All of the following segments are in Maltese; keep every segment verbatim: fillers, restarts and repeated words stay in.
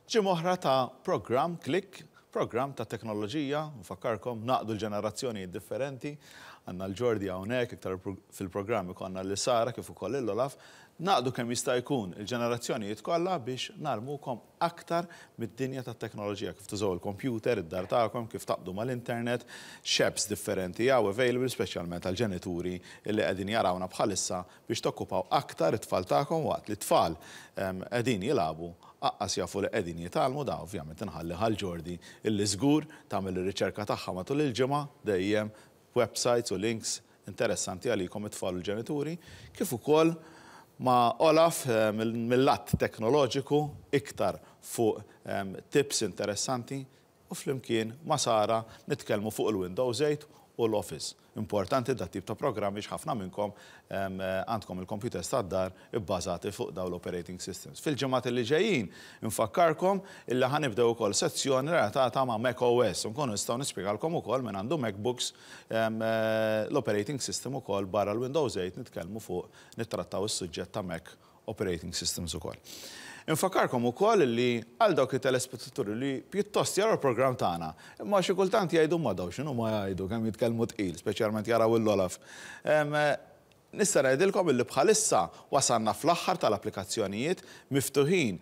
Ġimgħa oħra ta' program Click, program ta' teknoloġija, nfakkarkom ngħaqqdu l-ġenerazzjoni differenti, għandna l-Ġordi hawnhekk, iktar fil-programm ikollna lil Sara kif ukoll l-Olaf, ngħaqqdu kemm jista' jkun il-ġenerazzjonijiet kollha biex ngħallmukom aktar mid-dinja tat-teknoloġija, kif tużaw il-computer, id-dar tagħkom, kif taqbdu mal-internet, x'apps differenti hawn available, speċjalment għal-ġenituri illi qegħdin jarawna bħalissa biex tokkupaw aktar it-tfal tagħkom waqt li t-tfal qegħdin jilagħbu aqqas jafu li qegħdin jitgħallmu. Da ovvjament inħalli għal Ġordi illi żgur tagħmel ir-riċerka tagħha matul il-ġimgħa dejjem websites u links interessanti għalikom it-tfal u l-ġenituri, kif ukoll ma' Olaf eh, mill-lat teknoloġiku iktar fuq tips interessanti u flimkien ma' Sara nitkellmu fuq il-Windows eight u l-Office. Importanti dat tip ta' programmi ħafna minnkom għandkom il-computers tad-dar ibbażati fuq daw l-operating systems. Fil-ġimgħat li ġejjin infakkarkom illi ħa nibdew ukoll sezzjoni relatata ma' Mac O S. Nkunu nistgħu nispjegalkom ukoll minn għandu MacBooks l-operating system ukoll barra l-Windows eight, nitkellmu fuq, nittrattaw is-suġġett ta' Mac operating systems ukoll. Infakkarkom ukoll li għal dawk it-telespettaturi li pjuttost jaraw il-programm tagħna, imma xi kultant jgħidu, "Ma daw x'inhu ma jgħidu, kemm jitkellmu tqil," speċjalment jaraw l-Olaf. Nista' ngħidilkom illi bħalissa wasalna fl-aħħar tal-applikazzjonijiet miftuħin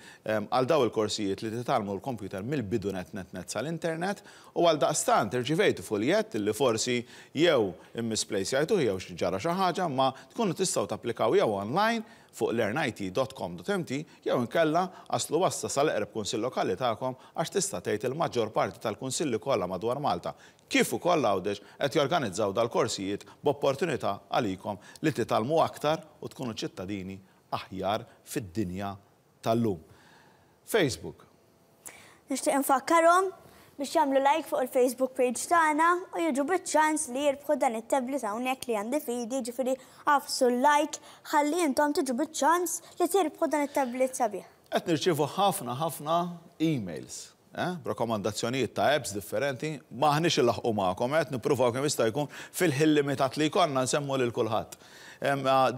għal daw il-korsijiet li titgħallmu l-computer mill-bidu net net net sal-internet u għal daqstant irċivejtu fuljett li forsi jew immisplace jgħidu jew ġara xi ħaġa, ma tkunu tistgħu tapplikaw jew online fuq learn I T dot com dot M T jew inkella aslu wassa sal-eqreb kunsill lokali tagħkom, għax tista' tgħid il-maġġor parti tal-kunsilli kollha madwar Malta kif ukoll Għawdex qed jorganizzaw dal-korsijiet b'opportunità għalikom li titgħallmu aktar u tkunu ċittadini aħjar fid-dinja tal-lum. Facebook. Nixtieq infakkarhom biex jagħmlu like fuq il-Facebook page tagħna u jiġu biċ-ċans li jirbħu dan it-tablet hawnhekk li għandi f'idi, ġifieri agħfsu like ħalli intom tiġu biċ-ċans li tirbħu dan it-tablet sabiħ. Qed nirċievu ħafna ħafna emails, eh, b'rakkomandazzjonijiet ta' apps differenti, m'aħniex inlaħħqu magħkom, qed nippruvaw kemm jista' jkun fil-ħin limitat li jkollna nsemmu lil kulħadd.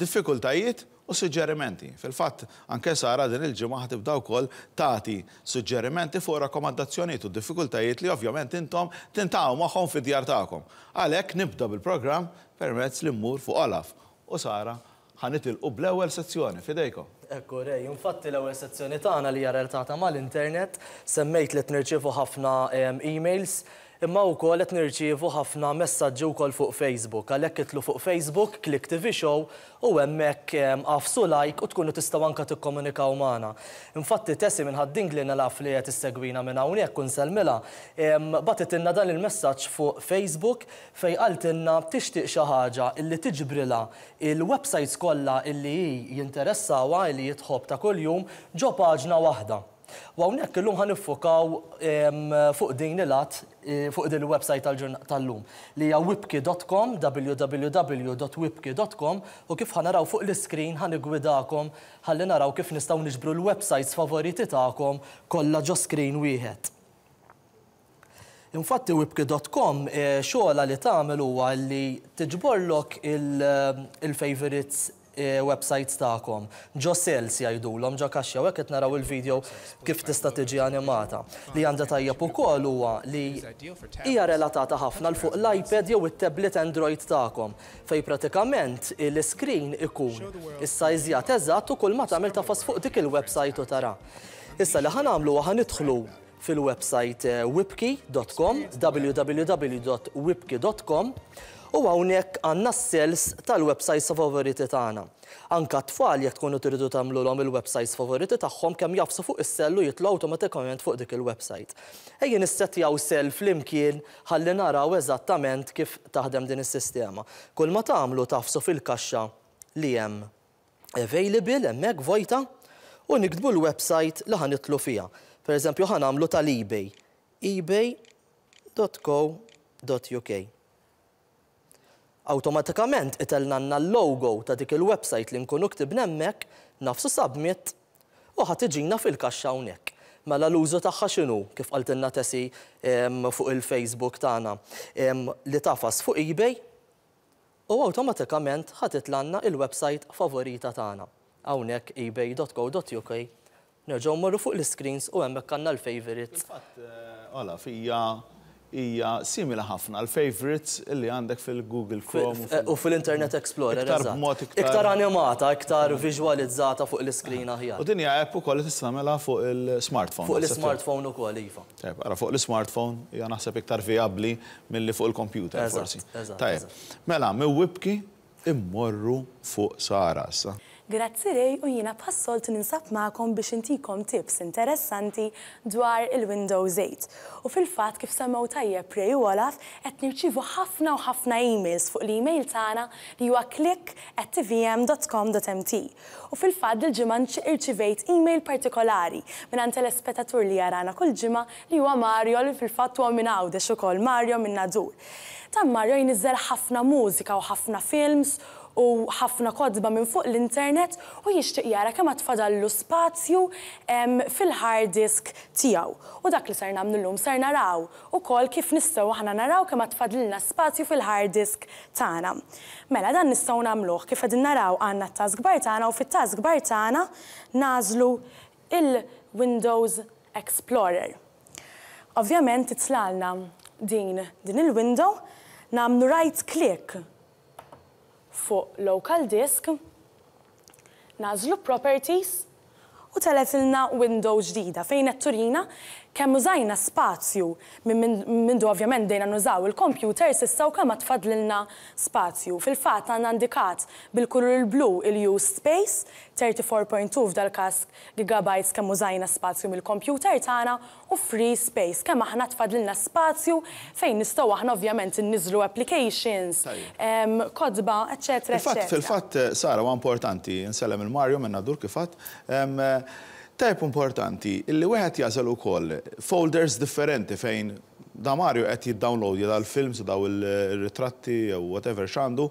Diffikultajiet u suġġerimenti. Fil-fatt, anke Sara din il-ġimgħa ħa tibda wkoll tagħti suġġerimenti fuq rakkomandazzjonijiet u diffikultajiet li ovvjament intom tiltaqgħu magħhom fid-djar tagħkom. Għalhekk nibda bil-programm permezz li mmur fuq Olaf u Sara, ħa nitilqu bl-ewwel sezzjoni fidejkom. Ekku, Rej, infatti l-ewwel sezzjoni tagħna li hija relatata mal-internet, semmejt li nirċievu ħafna emails, imma wkoll qed nirċievu ħafna messaġġi wkoll fuq Facebook. Għalhekk itilgħu fuq Facebook, Click T V Show, u hemmhekk agħfsu like u tkunu tistgħu anke tikkomunikaw magħna. Infatti Tessi minn Ħad-Dingli, naf li qed issegwina minn hawnhekk u nsellmilha, bagħtitilna dan il-messaġġ fuq Facebook fejn qaltilna tixtieq xi ħaġa illi tiġbrilha il-websites kollha illi hi jinteressawha, illi tħobb ta' kuljum ġo paġna waħda. U hawnhekk illum ħa niffukaw fuq din il-at, eh, fuq din il-website tal-lum li hija wibki dot com, W W W dot wibki dot com, u kif ħa naraw fuq l-iskrin ħa niggwidakom ħalli naraw kif nistgħu niġbru l-websites favoriti tagħkom kollha ġo screen wieħed. Infatti wibki dot com eh, xogħla li tagħmel huwa li tiġborlok il-favorites eh, websites tagħkom. Ġo cells jgħidulhom, ġo kaxxa, u hekk qed naraw il-video kif tista' tiġi animata. Li għandha tajjeb ukoll huwa li hija relatata ħafna l fuq l-iPad jew it-tablet Android tagħkom, fej pratikament l-screen ikun is-sajżjat eżatt u kull ma tagħmel tagħfas fuq dik il-website u tara. Issa li ħa nagħmlu, ħa nidħlu fil-website eh, wibki dot com, W W W dot wibki dot com, u hawnhekk għandna s-cells tal-websites favoriti tagħna. Anka tfal, jekk tkunu tridu tagħmluhom il-websites favoriti tagħhom, kemm jagħfsu fuq is-cell u jitlu awtomatikament fuq dik il-website. Ejja nissettjaw cell flimkien ħalli naraw eżattament kif taħdem din is-sistema. Kull ma tagħmlu, tagħfsu fil-kaxxa li hemm available hemmhekk vojta u niktbu l-website li ħa nidħlu fiha. Per eżempju, ħa nagħmlu tal-eBay. Ebay dot co dot U K. Awtomatikament itellgħalna l-logo ta' dik il-website li nkunu ktibna hemmhekk, nagħfsu submit u ħa tiġina fil-kaxxa hawnhekk. Mela l-użu tagħha x'inhu, kif qaltilna Tessi fuq il-Facebook tagħna, li tagħfas fuq eBay u awtomatikament ħa titlagħlna il-website favorita tagħna. Hawnhekk ebay dot co dot U K, nerġgħu mmorru fuq l-screens u hemmhekk għandna l-favorites. Fil-fatt, eh, Olaf, hija hija simili ħafna l-favorites illi għandek fil-Google Chrome. u fil- U fil-Internet Explorer, Iktar eżatt. b'mod iktar- Iktar animata, iktar viżwalizzata fuq l-screen aħjar. U din hija app ukoll li tista' tagħmilha fuq il-smartphone. Fuq naħseb. l-smartphone ukoll, iva. Tajjeb, ara fuq l-smartphone hija naħseb iktar vijabbli milli fuq il-computer Eżatt, forsi. eżatt, Tajjeb, eżatt. mela, minn Wibki immorru fuq Sara issa. Grazzi, Ray, u jiena bħas-soltu ninsab magħkom biex intikom tips interessanti dwar il-Windows eight. U fil-fatt, kif semmew tajjeb Ray u Olaf, qed nirċivu ħafna u ħafna emails fuq l-email tagħna li huwa click at tvm dot com dot M T. U fil-fatt dil-ġimgħa irċivejt email partikolari minn telespettatur li jarana kull ġimgħa li huwa Mario, li fil-fatt huwa minn Għawdex ukoll, Mario minn Nadur. Dan Mario jniżżel ħafna mużika u ħafna films u ħafna kotba minn fuq l-internet u jixtieq jara kemm tfadallu spazju em, fil-hard disk tiegħu. U dak li ser nagħmlu llum, ser naraw ukoll kif nistgħu aħna naraw kemm tfadlilna spazju fil-hard disk tagħna. Mela dan nistgħu nagħmluh kif qegħdin naraw, għandna t-taskbar tagħna u fit-taskbar tagħna nagħżlu il-Windows Explorer. Ovvjament titlalna din din il-window, nagħmlu right click fuq local disk, nagħżlu properties u telgħetilna window ġdida fejn qed turina kemm użajna spazju minn mindu ovvjament bdejna nużaw il-computer s'issa u kemm tfadlilna spazju. Fil-fatt għandna indikat bil-kulur il-blu il-used space, tlieta u derbgħin punt tnejn f'dal każ gigabytes, kemm użajna spazju mill-computer tagħna, u free space, kemm aħna tfadlilna spazju fejn nistgħu aħna ovvjament inniżlu applications, em, kotba, eċetera, Fil-fatt, eċetera. Fil-fatt, Sara, huwa importanti, nsellem il-Mario minn Nadur kif għedt, em, Tajb importanti, illi wieħed jagħżel ukoll folders differenti fejn da Mario qed jiddownloadja dal-films, daw il-ritratti jew whatever x'għandu.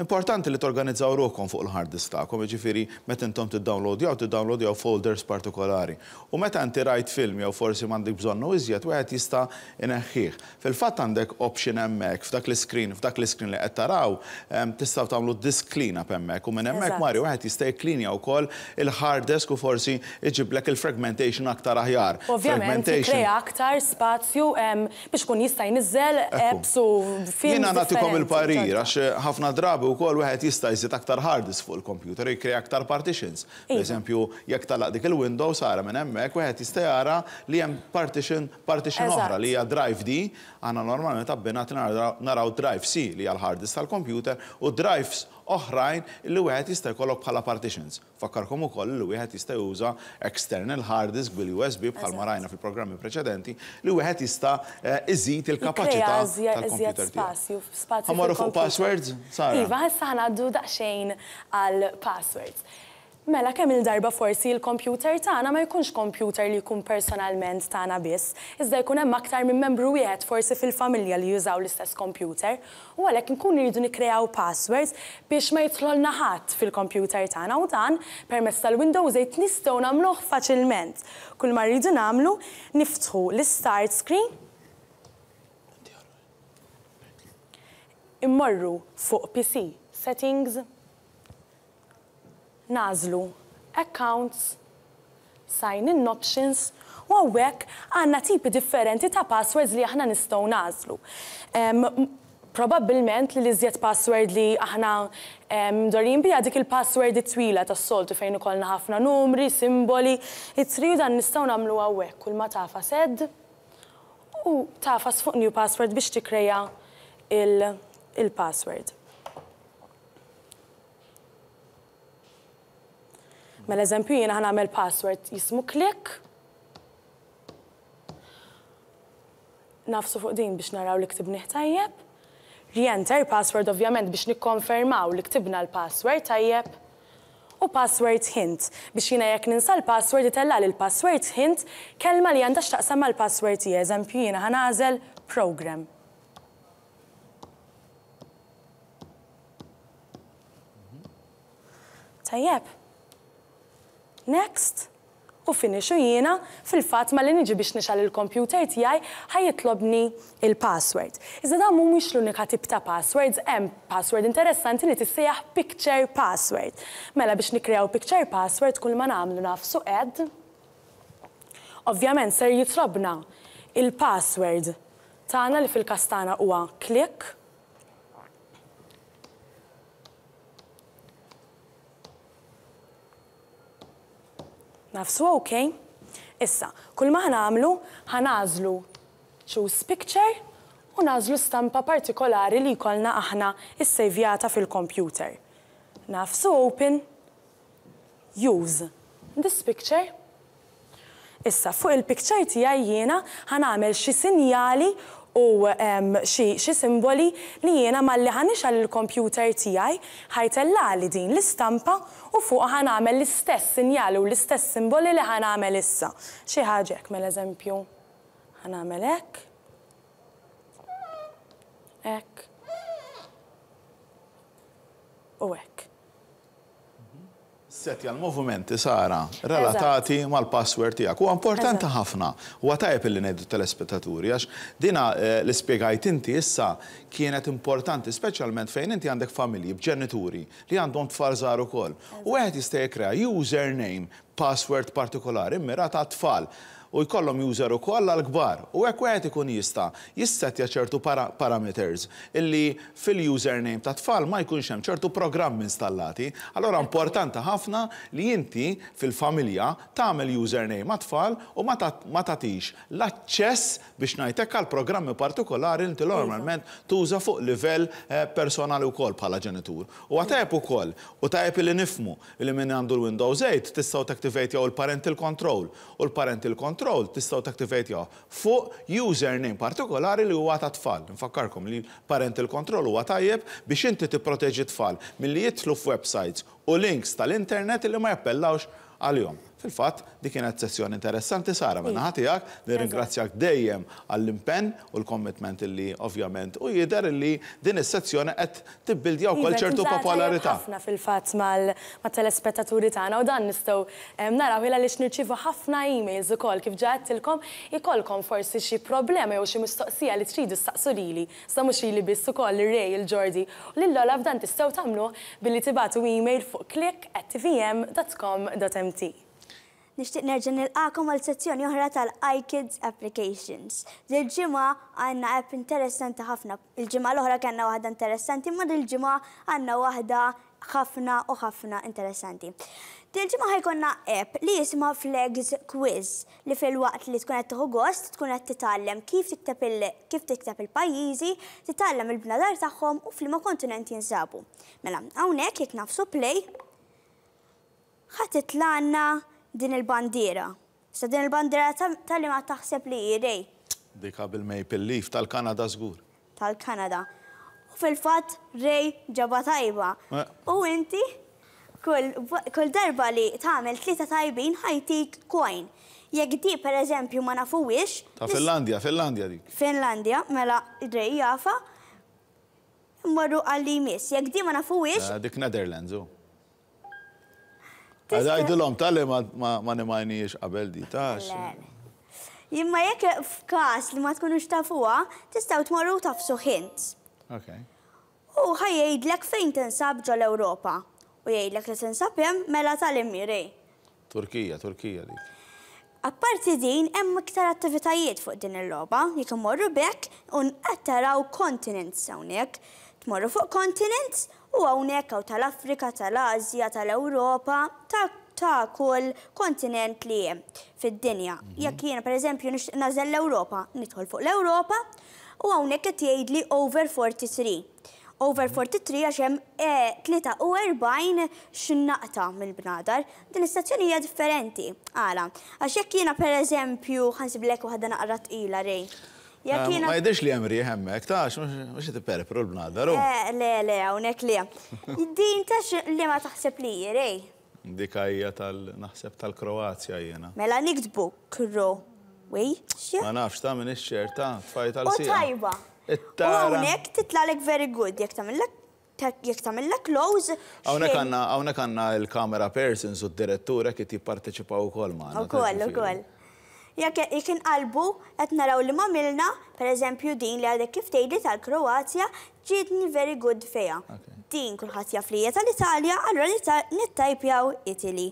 Importanti li torganizzaw ruħkom fuq il-hard disk tagħkom, jiġifieri meta intom tiddownloadjaw, tiddownloadjaw folders partikolari. U meta inti rajt film jew forsi m'għandek bżonnu iżjed, wieħed jista' ineħħih. Fil-fatt għandek option hemmhekk f'dak l-screen, f'dak l-screen li qed taraw, em, tistgħu tagħmlu disk clean up hemmhekk u minn hemmhekk Eżatt. Mario wieħed jista' jikklinja wkoll il-hard disk u forsi iġiblek il-fragmentation aktar aħjar. Ovvjament, jikkrea aktar spazju em, biex kun jista' jniżżel Ekku. apps u films Jiena nagħtikom differenti il-parir, ġodda. għax ħafna drabi wkoll wieħed jista' jżid aktar hard disk fuq il-computer, jikkrea aktar partitions. Per Iva. eżempju, jekk tagħlaq dik il-window, Sara, minn hemmhekk wieħed jista' jara li hemm partition partition Eżatt. oħra li hija drive D, għandna normalment abbinati naraw- naraw drive C li hija l-hard disk tal-computer u drives oħrajn li wieħed jista' jkollok bħala partitions. Fakkarkom ukoll li wieħed jista' juża external hard disk bil-U S B bħalma rajna fil-programmi preċedenti li wieħed jista' eh, iżid il-kapaċità Jikkrea iżjed tal-computer tiegħu. spazju, spazju Ħa mmorru fuq fil-computer. passwords, Sara? Iva, issa ħa ngħaddu daqsxejn għal passwords. Mela kemm il-darba forsi il-computer tagħna ma jkunx computer li jkun personalment tagħna biss, iżda jkun hemm aktar minn membru wieħed forsi fil-familja li jużaw l-istess computer, u għalhekk nkunu rridu nikkreaw passwords biex ma jidħolna ħadd fil-computer tagħna, u dan permezz tal-Windows eight nistgħu nagħmluh faċilment. Kull ma rridu nagħmlu, niftħu l-start screen, immorru fuq P C Settings, nagħżlu Accounts, Sign In Options, u hawnhekk għandna tipi differenti ta' passwords li aħna nistgħu nagħżlu. Em, Probabbilment li l-iżjed password li aħna em, mdorrijin biha dik il-password it-twila tas-soltu fejn ikollna ħafna numri, simboli, ittri, u dan nistgħu nagħmlu hawnhekk, kull ma tagħfas Add u tagħfas fuq New Password biex tikkreja il-password. Mela eżempju jiena ħa nagħmel password jismu click. Nagħfsu fuq din biex naraw li ktibnih tajjeb. Re-enter password ovvjament biex nikkonfermaw li ktibna l-password tajjeb. U password hint biex jiena jekk ninsa l-password itella l-password hint, kelma li għandha x'taqsam mal-password tiegħi. Eżempju jiena ħa nagħżel program. Tajjeb. Next. u finish u jiena fil-fatt malli niġi biex nixgħel il-computer tiegħi ħa jitlobni il-password. Iżda dan mhumiex l-unika tip ta' passwords, hemm password interessanti li tissejjaħ picture password. Mela biex nikkreaw picture password kull ma nagħmlu nagħfsu add. Ovvjament ser jitlobna il-password tagħna li fil-każ tagħna huwa click. Nagħfsu OK. Issa, kull ma ħa nagħmlu, ħa nagħżlu choose picture u nagħżlu stampa partikolari li jkollna aħna issejvjata fil-computer. Nagħfsu open, use this picture. Issa, fuq il-picture tiegħi jiena ħa nagħmel xi sinjali u xi simboli li jiena malli ħa nixgħel il-computer tiegħi ħa jtellali din l-istampa u fuq ħa nagħmel l-istess sinjali u l-istess simboli li ħa nagħmel issa. Xi ħaġa hekk, mela eżempju, ħa nagħmel hekk, hekk u hekk. Setja l-movimenti, Sara, relatati mal-password tiegħek. Huwa importanti ħafna. Huwa tajjeb illi ngħidu telespettaturi għax dina li spjegajt inti issa kienet importanti speċjalment fejn inti għandek familji b'ġenituri li għandhom tfal żgħar ukoll. U wieħed jista' jikkrea username, password partikolari immirata għat-tfal u jkollhom user ukoll għall-kbar. U hekk wieħed ikun jista' jissetja ċertu parameters illi fil-username ta' tfal ma jkunx hemm ċertu programmi installati. Allora importanti ħafna li inti fil-familja tagħmel username ma' tfal u ma tagħtix l-aċċess biex ngħidlek għal programmi partikolari li inti normalment tuża fuq livell personali wkoll bħala ġenitur. U tajjeb ukoll, u tajjeb li nifhmu li min għandu l-Windows eight tistgħu taktivate jew il-parental control u l-parental control tistgħu taktivate jew fuq username partikolari li huwa ta' tfal. Nfakkarkom li parental control huwa tajjeb biex inti tipproteġi tfal milli jidħlu f'websites u links tal-internet li ma jappellawx għalihom. Fil-fatt, dik kienet sessjoni interessanti, Sara, minn naħa tiegħek, nirringrazzjak dejjem għall-impenn u l-commitment illi ovvjament u jidher illi din is-sezzjoni qed tibbildja wkoll ċertu popolarità. Ħafna fil-fatt mat-telespettaturi tagħna u dan nistgħu naraw il għaliex nirċievu ħafna emails ukoll kif ġa għedtilkom ikollkom forsi xi problema jew xi mistoqsija li tridu staqsu lili, sa mhux lili biss ukoll ir-Ray, il-Jordi u lil Olaf dan tistgħu tagħmluh billi tibagħtu email fuq click at t v m dot com dot m t. Nixtieq nerġa' nilqakom għal sezzjoni oħra tal-iKids Applications. Dil-ġimgħa għandna app interessanti ħafna. Il-ġimgħa l-oħra kellna waħda interessanti, imma dil-ġimgħa għandna waħda ħafna u ħafna interessanti. Dil-ġimgħa ħajkonna app li jisimha Flags Quiz li fil-waqt li tkun qed tieħu gost tkun qed titgħallem kif tikteb il-, kif tikteb il-pajjiżi, titgħallem il-bnadar tagħhom u f'liema kontinent jinsabu. Mela, hawnhekk jekk nagħfsu play ħa titlaqna din il-bandiera. Sa din il-bandiera tal-li ma taħseb li hi Ray. Dik bil-Maple Leaf tal-Kanada żgur. Tal-Kanada. U fil-fatt Ray ġaba tajba. U inti kull, kull darba li tagħmel tlieta tajbin ħajtik coin. Jekk di pereżempju ma nafuwix. Ta' Finlandja, Finlandja dik. Finlandja, mela Ray jafa. Mmorru għal-li jmiss. Jekk di ma nafuwix. Dik Netherlands, u. Għajdilhom tal-li ma nimajniex qabel di, tax. Imma jekk f'każ li ma tkunux tafuha, tistgħu tmorru tafsu hint. Ok. U ħa jgħidlek fejn tinsab ġol Ewropa. U jgħidlek li tinsab hemm mela tal-Imri. Turkija, Turkija dik. Apparti din, hemm iktar attivitajiet fuq din il-logħba. Jekk imorru bekk u qed taraw continents hawnhekk. Tmorru fuq continents u hawnhekk hawn tal-Afrika, tal-Asja, tal-Ewropa, ta', ta' kull kontinent li hemm fid-dinja. Mhm. Jekk jiena pereżempju nixtieq nażel l-Ewropa, nidħol fuq l-Ewropa u hawnhekk qed jgħidli over forty-three. Over forty-three għax hemm, eh, tlieta u erbgħin x'naqta mill-bnadar. Din is-sezzjoni hija differenti. Għala, għax jekk jiena pereżempju ħansiblek waħda naqra tqila Ray. Jekk Eh, jiena Ma jidhirx li hemm riħ hemmhekk, tax, mhux qed iperpru l-bnadar, hu. Eh, le, le, hawnhekk le. Din tax li ma taħseb li hi, Ray. Dik hija tal naħseb tal-Kroazja jiena. Mela niktbu Kroazja. Ma nafx ta' min ix-xer ta' tfaj U tal-sija. tajba. It-tara. U hawnhekk titlalek very good jekk tagħmillek jekk tagħmilha close. Hawnhekk għandna hawnhekk għandna il-camera persons u d-direttura kif jipparteċipaw ukoll magħna. Ukoll, ukoll. Jekk jekk inqalbu qed naraw li m'għamilna, pereżempju din li għadek kif tgħidli tal-Kroazja, ġietni very good fiha. Din kulħadd jaf li hija tal-Italja, allura nittajpjaw Italy.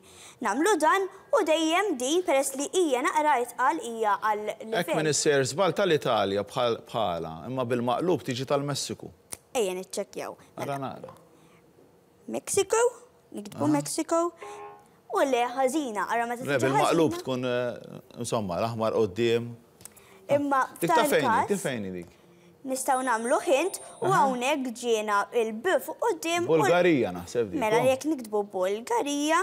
Nagħmlu dan u dejjem din peress li hija naqra itqal hija għal Hekk min issejjer żball tal-Italja bħala, imma bil-maqlub tiġi tal-Messiku. Ejja niċċekkjaw. Ara naqra. Mexico, niktbu Mexico, u le ħażina, ara meta Le, tiġi bil-maqlub ħażina. tkun, eh, insomma, l-aħmar quddiem. Imma Dik ta' f'dan fejni, il-każ dik fejni dik. nistgħu nagħmlu hint u hawnhekk ġiena il-B fuq quddiem. u l- Bulgarija naħseb dik. Mela oh. jekk niktbu Bulgarija,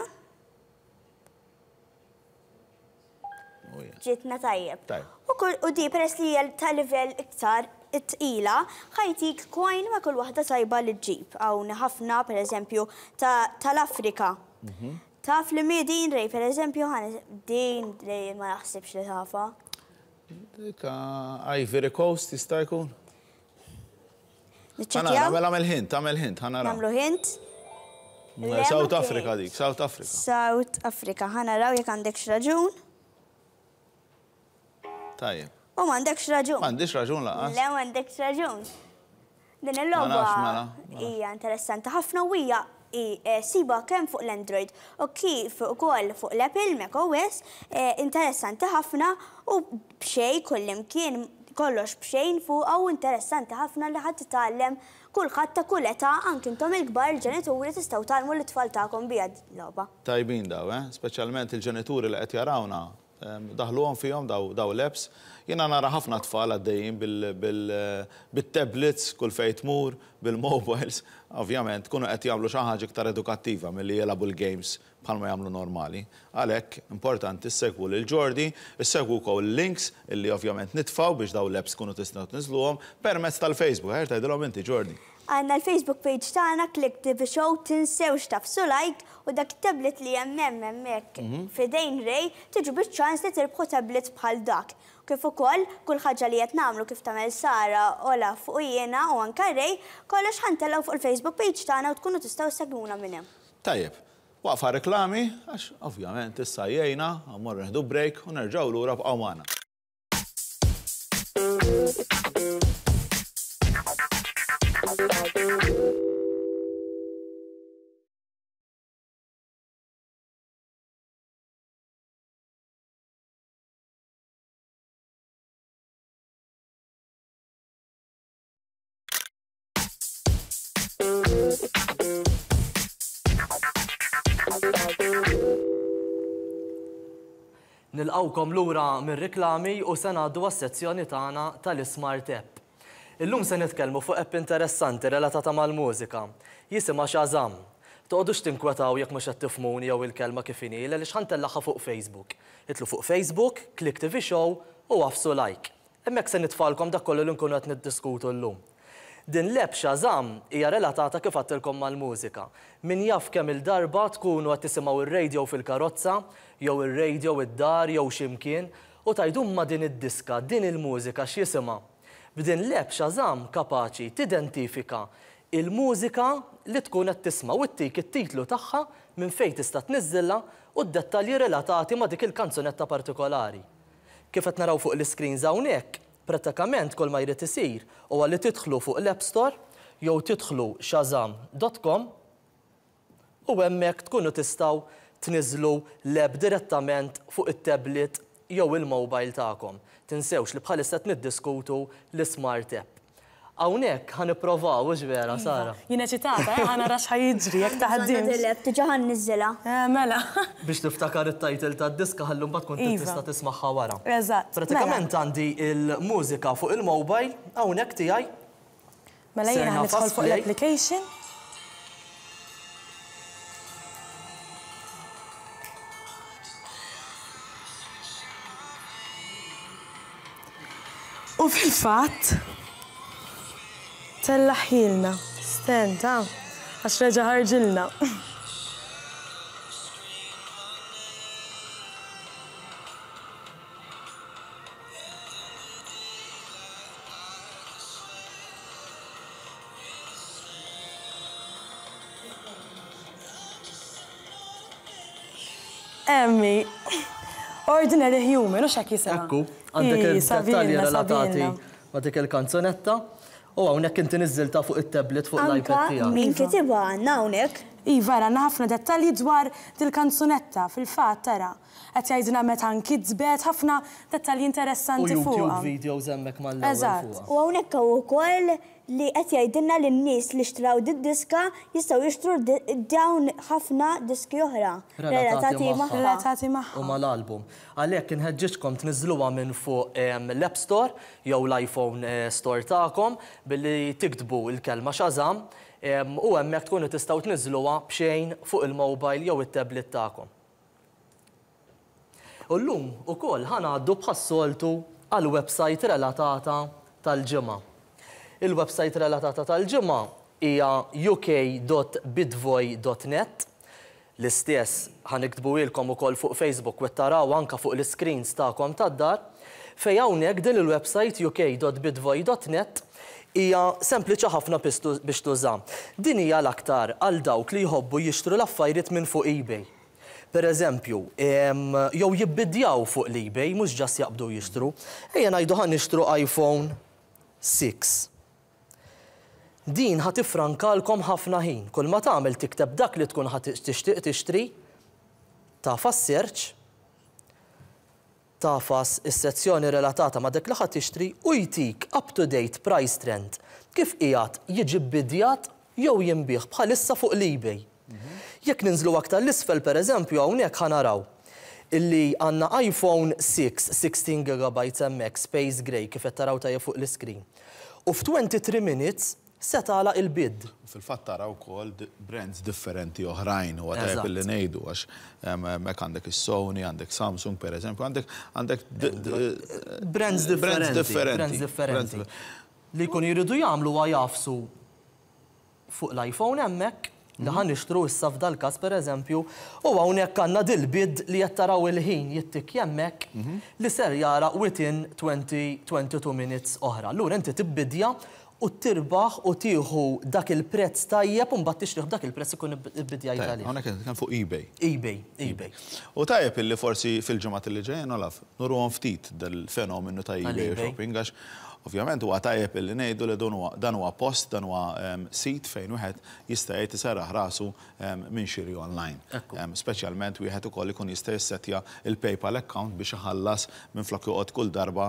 Oh, yeah. ġietna tajjeb. Tajjeb. U kull u di peress li hija ta' livell iktar tqila, ħa jtik coin ma' kull waħda tajba li ġġib. Hawn ħafna pereżempju ta' tal-Afrika. Mhm. Taf li mi din Ray, pereżempju, ħan din Ray ma naħsibx li tafa. Dik ah, Ivory Coast jista' jkun? Ħa nara, Niċċekkjaw? mela għamel hint, għamel hint, ħa naraw. Nagħmlu hint. Le, South ma Africa kienx. dik, South Africa. South Africa, ħa naraw jekk għandekx raġun. Tajjeb. U m'għandekx raġun. M'għandix raġun lanqas. Le m'għandekx raġun. Din Ma il-logħba nafx, mela, ma nafx. hija interessanti ħafna u hija i- eh, siba kemm fuq l-Android u kif ukoll fuq l-Apple Mac O S, eh, interessanti ħafna u b'xejn kullimkien kollox b'xejn fuq u interessanti ħafna li ħadd titgħallem kulħadd ta' kull età, anke intom il-kbar il-ġenituri tistgħu tgħallmu l-itfal tagħkom biha logħba. Tajbin daw, eh? Speċjalment il-ġenituri li qed jarawna, em, daħluhom fihom daw, daw l-apps. Jiena nara ħafna tfal għaddejjin bil-tablets kull fejn tmur, bil-mobiles. Ovvjament, kunu qed jagħmlu xi ħaġa iktar edukattiva milli jilagħbu l-games bħalma jagħmlu normali. Għalhekk importanti ssegwu lil Jordi, issegwu wkoll links illi ovvjament nitfgħu biex daw l-apps kunu tistgħu tniżluhom permezz tal-Facebook. Ħer tgħidilhom inti Jordi. Għandna l-Facebook page tagħna Click T V Show, tinsewx tagħfsu like u dak tablet li hemm hemm hemmhekk f'idejn Ray tiġu biċ-ċans li tirbħu tablet bħal dak. Kif ukoll kull ħaġa li qed nagħmlu kif tagħmel Sara, Olaf u jiena u anke Ray, kollox ħa ntellgħu fuq il-Facebook page tagħna u tkunu tistgħu segwuna minn hemm. Tajjeb, waqfa reklami, għax ovvjament issa jgħina, mmorru nieħdu break u nerġgħu lura bqgħu magħna. Nilqawkom lura mir-riklami u se ngħaddu għas-sezzjoni tagħna tal-Smart App. Illum se nitkellmu fuq app interessanti relatata mal-mużika. Jisimha Shazam. Toqgħodux tinkwetaw jekk mhux qed tifhmuni jew il-kelma kif inhi, għaliex ħa ntellagħha fuq Facebook. Idħlu fuq Facebook, Click T V Show u agħfsu like. Hemmhekk se nitfalkom dak kollu li nkunu qed niddiskutu llum. Din l-app Shazam hija relatata kif għedtilkom mal-mużika. Min jaf kemm il-darba tkunu qed tisimgħu ir-radio fil-karozza, jew ir-radio id-dar, jew x'imkien, u tgħidu ma din id-diska, din il-mużika x'jisimha. B'din l-app Shazam kapaċi tidentifika il-mużika li tkun qed tisma' u ttik it-titlu tagħha, minn fejn tista' tniżżilha u d-dettalji relatati ma' dik il-kanzunetta partikolari. Kif qed naraw fuq l-screens hawnhekk, prattikament kull ma jrid isir huwa li tidħlu fuq l-App Store jew tidħlu shazam dot com u hemmhekk tkunu tistgħu tniżlu l-app direttament fuq it-tablet jew il-mobile tagħkom. Tinsewx li bħalissa qed niddiskutu l-Smart App. Hawnhekk ħa nipprovaw, hux vera, Iva. Sara? Jien eċitata, eh, ħa nara x'ħa jiġri jekk taħdimx. L-app diġà ħa nniżżilha. Eh, mela. Biex tiftakar it-title tad-diska ħallu mbagħad tkun Iva. tista' tismagħha wara. Eżatt. Pratikament Mela. għandi il-mużika fuq il-mobile hawnhekk tiegħi. Mela jiena Serna ħa nidħol fast fuq play. l-application. U fil-fatt tellaħilna. Stenta, għax reġa' ħarġilna. Emmi, Ordinary Human, u x'hekk jisimha. Ekku, għandek il-dettalji relatati ma' dik il-kanzunetta. U hawnhekk inti niżżilta fuq it-tablet fuq l-iPad tiegħek. Min kitibha għandna hawnhekk. Iva, għandna ħafna dettalji dwar dil-kanzunetta fil-fatt tara. Qed jgħidilna meta nkitbet, ħafna dettalji interessanti fuqha. U YouTube videos hemmhekk mal-ewwel. Eżatt. U hawnhekk hawn ukoll li qed jgħidilna lin-nies li xtraw did-diska jistgħu jixtru dawn ħafna diski oħra relatati magħha. Relatati magħha. U mal-album. Għalhekk inħeġġiġkom tniżżluha minn fuq l-App Store jew l-iPhone Store tagħkom billi tiktbu l-kelma Shazam u hemmhekk tkunu tistgħu tniżżluha b'xejn fuq il-mobile jew it-tablet tagħkom. U llum ukoll ħa ngħaddu bħas-soltu għall-website relatata tal-ġimgħa. Il-website relatata tal-ġimgħa hija u k dot bitvoy dot net. L-istess ħa niktbuhielkom ukoll fuq Facebook u taraw anka fuq l-screens tagħkom tad-dar. Fej hawnhekk din il-website u k dot bitvoy dot net hija sempliċi ħafna biex tuża. Din hija l-aktar għal dawk li jħobbu jixtru l-affarijiet minn fuq eBay. Per eżempju, jew jibbidjaw fuq l-eBay, mhux ġas jaqbdu jixtru. Ejja ngħidu ħa nixtru iPhone six. Din ħa tifrankalkom ħafna ħin. Kull ma tagħmel tikteb dak li tkun ħa tixtieq tixtri, tafas search, tafas is-sezzjoni relatata ma' dak li ħa tixtri u jtik up-to-date price trend kif qiegħed jiġi bbidjat jew jinbih bħalissa fuq l-eBay. Jekk ninżlu aktar l-isfel pereżempju hawnhekk ħa naraw illi għandna iPhone six, sixteen gigabytes hemmhekk Space Gray kif qed taraw tajjeb fuq l-iskrin. U f'twenty-three minutes se tagħlaq il-bid. Fil-fatt taraw ukoll brands differenti oħrajn u tajjeb illi ngħidu għax hemmhekk għandek is-Sony, għandek Samsung pereżempju, għandek għandek brands differenti, brands differenti. Li jkunu jridu jagħmlu huwa jafsu fuq l-iPhone hemmhekk li ħa nixtru issa f'dal-każ pereżempju, u hawnhekk għandna dil-bid li qed taraw il-ħin jittik hemmhekk li ser jara within twenty, twenty-two minutes oħra. Allura inti tibbidja u tirbaħ u tieħu dak il-prezz tajjeb u mbagħad tixtrih b'dak il-prezz ikun ibbidjajt għalih. Hawnhekk qed nitkellem fuq eBay. eBay, eBay. U tajjeb illi forsi fil-ġimgħat li ġejjin Olaf nurruhom ftit dal-fenomenu ta' eBay Tal-eBay. shopping għax ovvjament huwa tajjeb illi ngħidu li dan huwa post, dan huwa sit fejn wieħed jista' jgħid iserraħ rasu minn xiri online. Ekku. Speċjalment wieħed ukoll ikun jista' jissettja il-PayPal account biex iħallas minflok joqgħod kull darba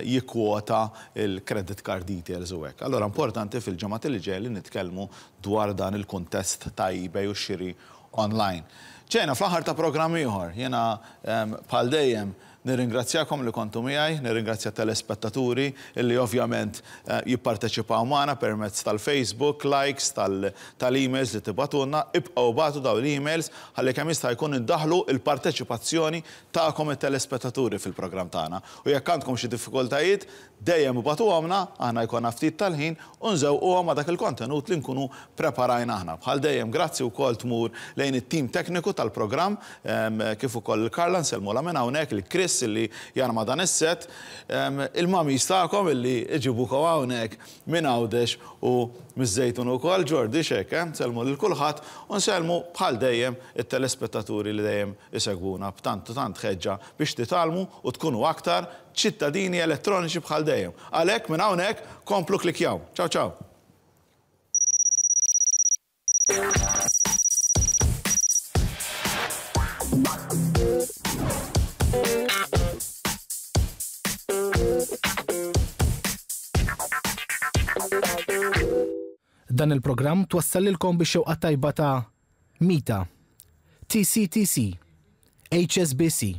jikkwota il-credit card details u hekk. Allura importanti fil-ġimgħat li ġej li nitkellmu dwar dan il-kuntest ta' eBay u xiri online. Ġejna fl-aħħar ta' programm ieħor, jiena bħal dejjem nirringrazzjakom li kontu miegħi, nirringrazzja telespettaturi illi ovvjament jipparteċipaw magħna permezz tal-Facebook, likes, tal-emails li tibatulna, ibqgħu bagħtu dawn l-emails ħalli kemm jista' jkun indaħlu il-parteċipazzjoni tagħkom it-telespettaturi fil-programm tagħna. U jekk għandkom xi diffikultajiet, dejjem ibatuhomna, aħna jkollna ftit tal-ħin u nżewquhom ma' dak il-kontenut li nkunu preparajna aħna. Bħal dejjem grazzi wkoll tmur lejn it-tim tekniku tal-programm, kif ukoll il-Karla nsellmulha minn hawnhekk, il-Chris illi jarma dan is-set, il-mami tagħkom illi iġibukom hawnhekk minn Għawdex u miż-Żejtun ukoll, Ġordi xek, eh? Nsellmu lil kulħadd u nsellmu bħal dejjem it-telespettaturi li dejjem isegwuna b'tant u tant ħeġġa biex titgħallmu u tkunu aktar ċittadini elettroniċi bħal dejjem. Għalhekk minn hawnhekk komplu klikjaw. Ciao ciao. Dan il-programm twassallilkom biex xewqa tajba ta' Mita, T C T C, H S B C.